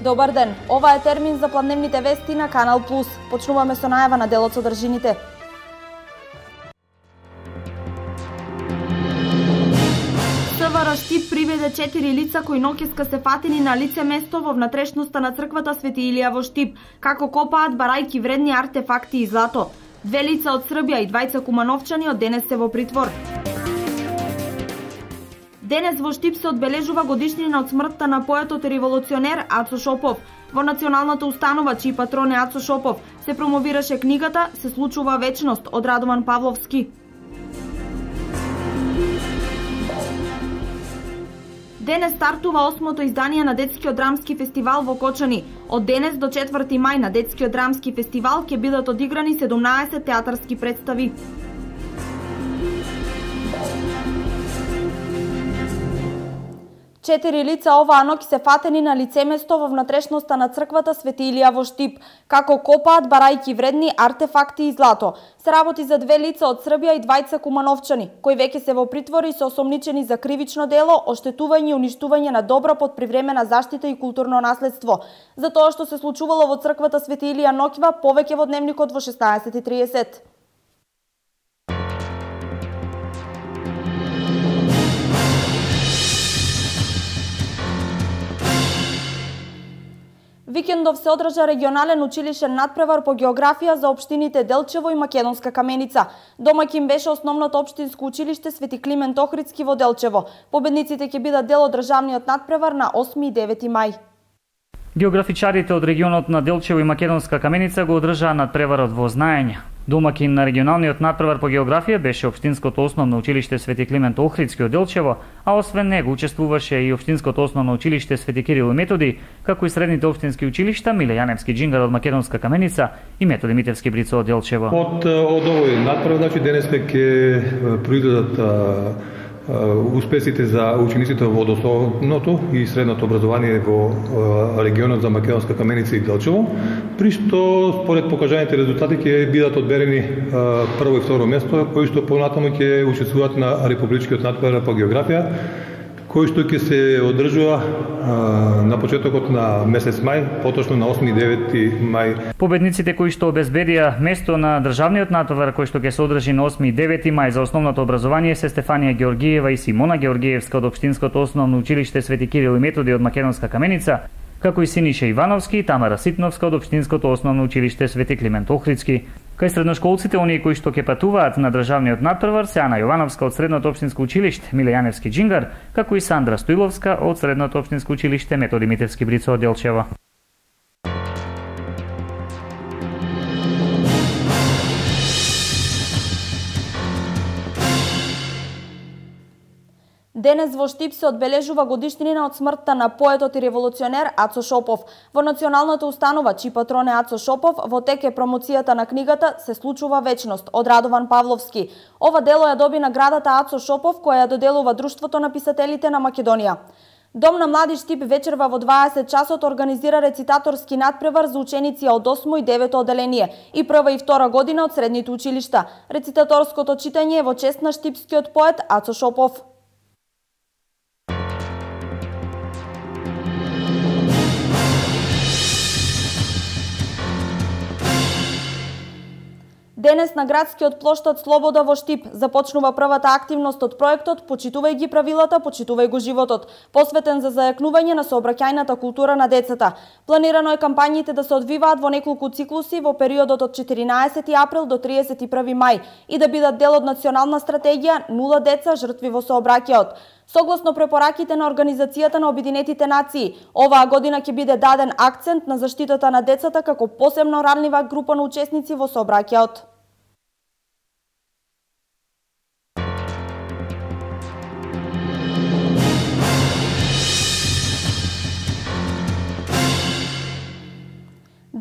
Добар ден, ова е термин за пладневните вести на Канал Плюс. Почнуваме со најава на делот содржините. СВР Штип приведе 4 лица кои ноќеска се фатени на лице место во внатрешноста на црквата Свети Илија во Штип, како копаат барајки вредни артефакти и злато. 2 лица од Србија и 2 кумановчани од денес се во притвор. Денес во Штип се одбележува годишнина од смртта на поетот и револуционер Ацо Шопов. Во националната установа, чиј патрон е Ацо Шопов, се промовираше книгата "Се случува вечност" од Радован Павловски. Денес стартува 8-то издание на Детскиот драмски фестивал во Кочани. Од денес до 4 мај на Детскиот драмски фестивал ќе бидат одиграни 17 театарски представи. Четири лица оваа ноќ се фатени на лицеместо во внатрешноста на црквата Свети Илија во Штип, како копаат барајки вредни артефакти и злато. Се работи за 2 лица од Србија и 2 кумановчани, кои веќе се во притвор и се осомничени за кривично дело, оштетување и уништување на добра под привремена заштита и културно наследство. За тоа што се случувало во црквата Свети Илија ноќва, повеќе во дневникот во 16:30. Викендов се одржа регионален училишен надпревар по географија за општините Делчево и Македонска Каменица. Домаќин беше основното општинско училиште Свети Климент Охридски во Делчево. Победниците ќе бидат дел од државниот надпревар на 8 и 9 мај. Географичарите од регионот на Делчево и Македонска Каменица го одржаа надпреварот во знаење. Домаќин на регионалниот надпревар по географија беше општинското основно училиште Свети Климент Охридски од Делчево, а освен него учествуваше и општинското основно училиште Свети Кирил и Методи, како и средните општински училишта Миле Јаневски Джингар од Македонска Каменица и Методи Митевски Брицо од Делчево. Од овој надпревар, значи денес ќе произлезат успесите за учениците во основното и средното образование во регионот за Македонска Каменица и Делчево, при што според покажаните резултати ќе бидат одберени прво и второ место, кои што понатаму ќе учествуваат на републичкиот надпревар по географија, кој што ќе се одржува на почетокот на месец мај, поточно на 8 и 9 мај. Победниците кои што обезбедија место на државниот надпревар кој што ќе се одржи на 8 и 9 мај за основното образование се Стефанија Георгиева и Симона Георгиевска од општинското основно училиште Свети Кирил и Методи од Македонска Каменица, како и Синиша Ивановски и Тамара Ситновска од општинското основно училиште Свети Климент Охридски. Кај средношколците, оние кои што ќе патуваат на државниот надпревар се Ана Јовановска од средното општинско училиште Миле Јаневски Джингар, како и Сандра Стоиловска од средното општинско училиште Методи Митевски Брицо од Делчево. Денес во Штип се одбележува годишнина од смртта на поетот и револуционер Ацо Шопов. Во националната установа, чиј патрон е Ацо Шопов, во тек е промоцијата на книгата "Се случува вечност" од Радован Павловски. Ова дело ја доби наградата Ацо Шопов, која ја доделува Друштвото на писателите на Македонија. Дом на млади Штип вечерва во 20 часот организира рецитаторски надпревар за ученици од 8 и 9 оделение и прва и втора година од средните училишта. Рецитаторското читање е во чест на штипскиот поет Ацо Шопов. Денес на градскиот плоштад Слобода во Штип започнува првата активност од проектот "Почитувај ги правилата, почитувај го животот", посветен за зајакнување на сообраќајната култура на децата. Планирано е кампањите да се одвиваат во неколку циклуси во периодот од 14 април до 31 мај и да бидат дел од национална стратегија "Нула деца жртви во сообраќајот". Согласно препораките на Организацијата на Обединетите нации, оваа година ќе биде даден акцент на заштитата на децата како посебно ранлива група на учесници во сообраќајот.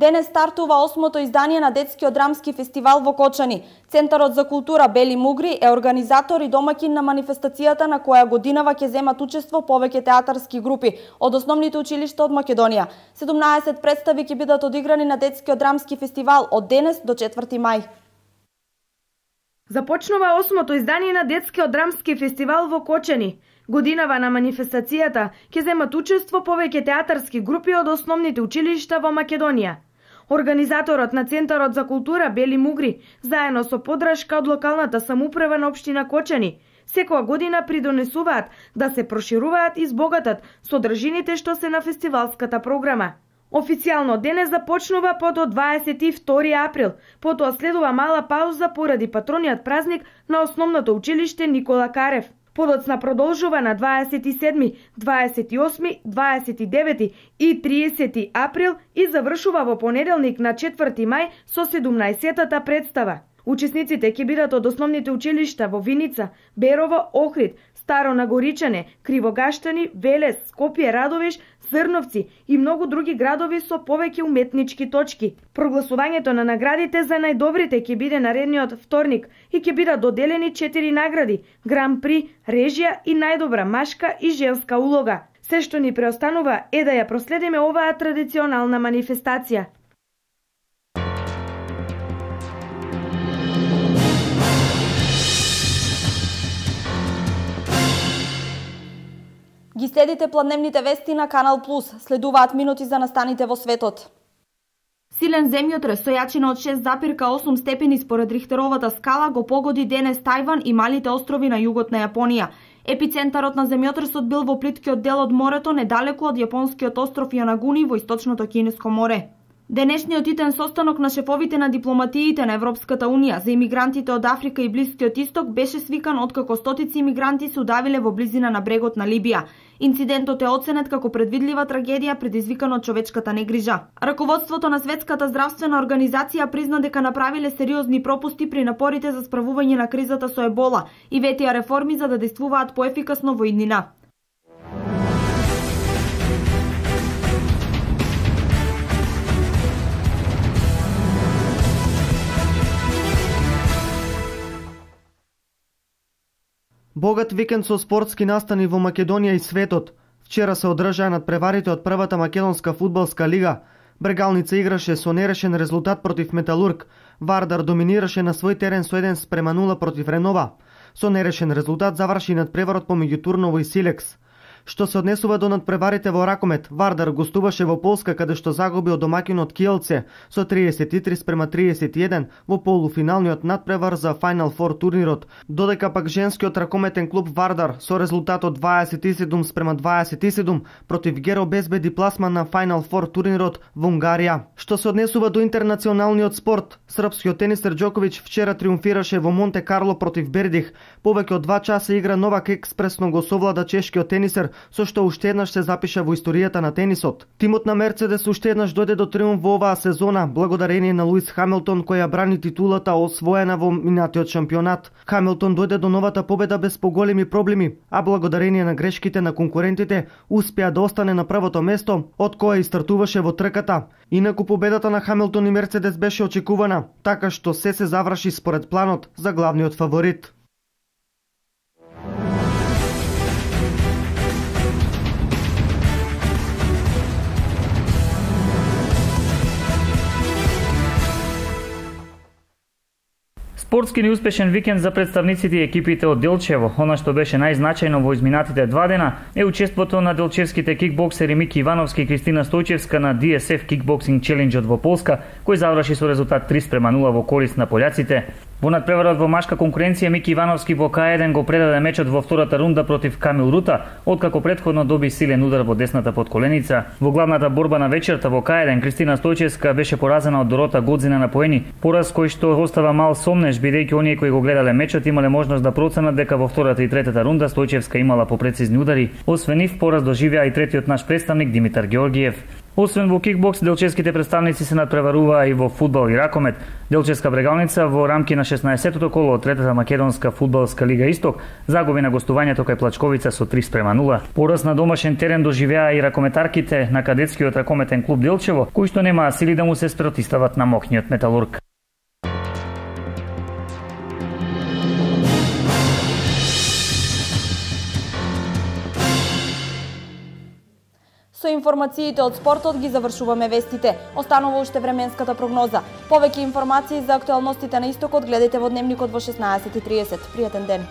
Денес стартува 8-то издание на Детскиот драмски фестивал во Кочани. Центарот за култура Бели Мугри е организатор и домаќин на манифестацијата на која годинава ќе земат учество повеќе театарски групи од основните училишта од Македонија. 17 представи ќе бидат одиграни на Детскиот драмски фестивал од денес до 4 мај. Започнува 8-то издание на Детскиот драмски фестивал во Кочани. Годинава на манифестацијата ќе земат учество повеќе театарски групи од основните училишта во Македонија. Организаторот на Центарот за култура Бели Мугри, заедно со поддршка од локалната самоуправа на општина Кочани, секоја година придонесуваат да се прошируваат и збогатат содржините што се на фестивалската програма. Официјално денес започнува подо 22 април, потоа следува мала пауза поради патрониот празник на основното училиште Никола Карев. Подоцна продолжува на 27, 28, 29 и 30 април и завршува во понеделник на 4 мај со 17-та представа. Учесниците ќе бидат од основните училишта во Виница, Берово, Охрид, Старо Нагоричане, Кривогаштани, Велес, Скопје, Радовиш, Зрновци и многу други градови со повеќе уметнички точки. Прогласувањето на наградите за најдобрите ќе биде наредниот вторник и ќе бидат доделени 4 награди: Гран При, режија и најдобра машка и женска улога. Се што ни преостанува е да ја проследиме оваа традиционална манифестација. Ги следите планедневните вести на Канал Плюс. Следуваат минути за настаните во светот. Силен земјотрес со јачина од 6,8 степени според Рихтеровата скала го погоди денес Тајван и малите острови на југот на Јапонија. Епицентарот на земјотресот бил во плиткиот дел од морето, недалеку од јапонскиот остров Јанагуни во источното Кинеско море. Денешниот итен состанок на шефовите на дипломатиите на Европската Унија за имигрантите од Африка и Блискиот Исток беше свикан откако стотици имигранти се удавиле во близина на брегот на Либија. Инцидентот е оценет како предвидлива трагедија предизвикана од човечката негрижа. Раководството на Светската здравствена организација призна дека направиле сериозни пропусти при напорите за справување на кризата со ебола и ветија реформи за да действуваат поефикасно во иднина. Богат викенд со спортски настани во Македонија и светот. Вчера се одржаа надпреварите од првата македонска фудбалска лига. Брегалница играше со нерешен резултат против Металург. Вардар доминираше на свој терен со 1:0 против Ренова. Со нерешен резултат заврши надпреварот помеѓу Турново и Силекс. Што се однесува до надпреварите во ракомет, Вардар гостуваше во Полска каде што загуби од домаќинот Киелце со 33:31 во полуфиналниот надпревар за Final Four турнирот, додека пак женскиот ракометен клуб Вардар со резултатот 27:27 против Геро безбеди пласма на Final Four турнирот во Унгарија. Што се однесува до интернационалниот спорт, српскиот тенисер Џоковиќ вчера триумфираше во Монте Карло против Бердих. Повеќе од 2 часа игра Новак експресно го совлада чешкиот тенисер, со што уште еднаш се запиша во историјата на тенисот. Тимот на Мерцедес уште еднаш дојде до триумф во оваа сезона, благодарение на Луис Хамилтон кој ја брани титулата освоена во минатиот шампионат. Хамилтон дојде до новата победа без поголеми проблеми, а благодарение на грешките на конкурентите успеа да остане на првото место, од кое и стартуваше во трката. Инаку победата на Хамилтон и Мерцедес беше очекувана, така што се заврши според планот за главниот фаворит. Спортски неуспешен викенд за представниците и екипите од Делчево. Она што беше најзначајно во изминатите 2 дена е учеството на делчевските кикбоксери Мики Ивановски и Кристина Стојчевска на DSF Kickboxing Challenge во Полска, кој заврши со резултат 3:0 во корист на пољаците. Во надпреварот во машка конкуренција Мики Ивановски во К1 го предаде мечот во втората рунда против Камил Рута, откако претходно доби силен удар во десната подколеница. Во главната борба на вечерта во К1 Кристина Стојчевска беше поразена од Дорота Годзина на поени, пораз кој што остава мал сомнеш бидејќи оние кои го гледале мечот имале можност да проценат дека во втората и третата рунда Стојчевска имала попрецизни удари. Освен нив пораз доживеа и третиот наш представник Димитар Георгиев. Освен во кикбокс, делчевските представници се надпреваруваа и во фудбал и ракомет. Делчевска брегалница во рамки на 16-тото коло од третата македонска фудбалска лига Исток загуби на гостувањето кај Плачковица со 3:0. Пораз на домашен терен доживеа и ракометарките на кадетскиот ракометен клуб Делчево, кои што немаа сили да му се спротивстават на моќниот Металург. Со информациите од спортот ги завршуваме вестите. Останува уште временската прогноза. Повеќе информации за актуелностите на Истокот гледате во Дневникот во 16:30. Пријатен ден!